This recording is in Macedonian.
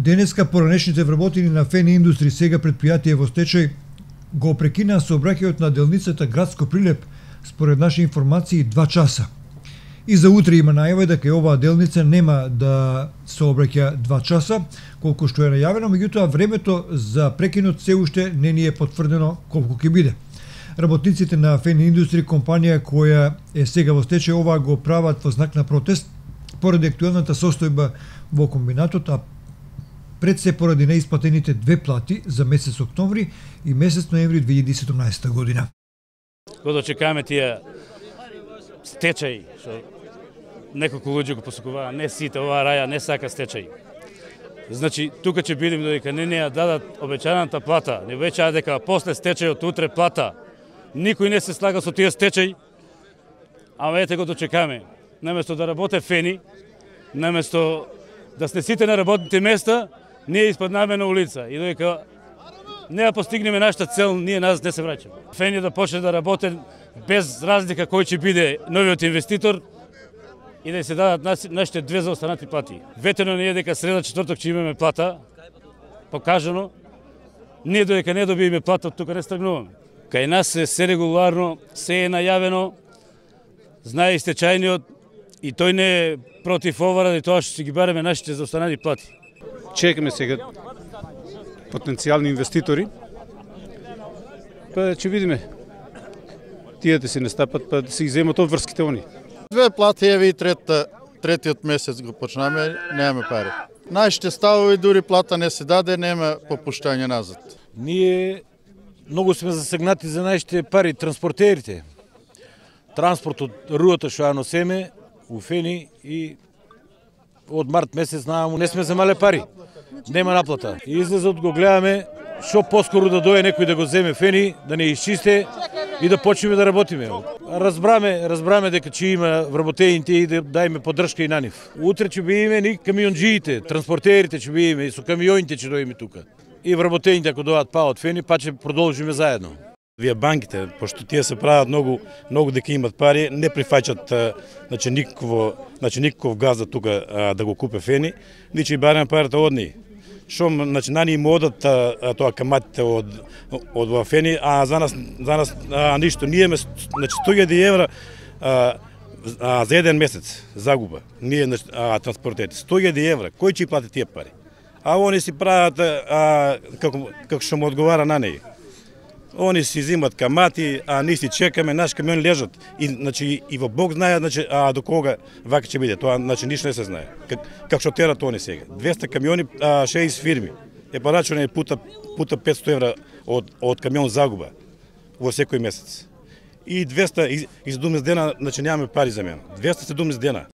Денеска поранешните вработени на Фени Индустри, сега предпријатие во стечај, го прекинаа сообраќајот на делницата Градско Прилеп, според наши информации 2 часа. И за утре има најава дека оваа делница нема да сообраќа 2 часа, колку што е најавено, меѓутоа времето за прекинот се уште не ни е потврдено колку ќе биде. Работниците на Фени Индустри, компанија која е сега во стечај, ова го прават во знак на протест поради актуелната состојба во комбинатот, а пред се поради неисплатените 2 плати за месец октомври и месец ноември 2017 година. Кога чекаме тие стечај, што неколку луѓе го посакуваа, не сите, оваа раја не сака стечај. Значи, тука ќе бидеме додека не ја дадат обечаната плата, не обечаа дека после стечајот утре плата. Никој не се слага со тие стечај, ама ете го дочекаме. Наместо да работе Фени, наместо да сте сите на работните места, ние испаднаме на улица и додека не ја постигнеме нашата цел, ние нас не се враќаме. Фени да почне да работи без разлика кој ќе биде новиот инвеститор и да се дадат нашите 2 заостанати плати. Ветено не е дека среда четврток ќе имаме плата, покажано. Ние додека не добиеме плата, од тука не стагнуваме. Кај нас е се регуларно, се е најавено, знае и стечајниот и тој не е против ова ради тоа што ќе ги бареме нашите заостанати плати. Чекаме сега потенцијални инвеститори, па ќе видиме. Тие да се не стапат, па да се иземат од врските они. 2 плати, еве и третиот месец го почнаме, немаме пари. Нашите ставови дури плата не се даде, нема попуштање назад. Ние многу сме засегнати за нашите пари, транспортерите. Транспорт од руата што ја носеме у Фени и од март месец нааму не сме земале пари. Нема наплата. И излезот го гледаме што поскоро да дое некој да го земе Фени, да не исчисте и да почнеме да работиме. Разбраме дека ќе има вработените и да дајме поддршка и на нив. Утре ќе биеме ни камионџиите, транспортерите ќе биеме и со камионите ќе доиме тука. И вработените ако доаат па од Фени, па ќе продолжиме заедно. Вие банките, пошто тие се прават многу дека имат пари, не прифаќат никаков газ за тука да го купе Фени, ни ќе бараме парите од нив. Што на ни им одат тоа каматите од Фени, а за нас ништо. Ние имаме 100.000 евра за еден месец загуба. Ние транспортерите 100.000 евра. Кој ќе плати тие пари? А они си прават како што му одговара на неи. Они си зимат камати, а ние си чекаме, наши камиони лежат. И во Бог знае до кога вака ќе биде. Тоа ништо не се знае. Како што терат они сега. 200 камиони, 6 фирми. Па рачуне пута 500 евра од камион загуба во секој месец. И 200 из 17 дена, немаме пари за мене. 217 дена.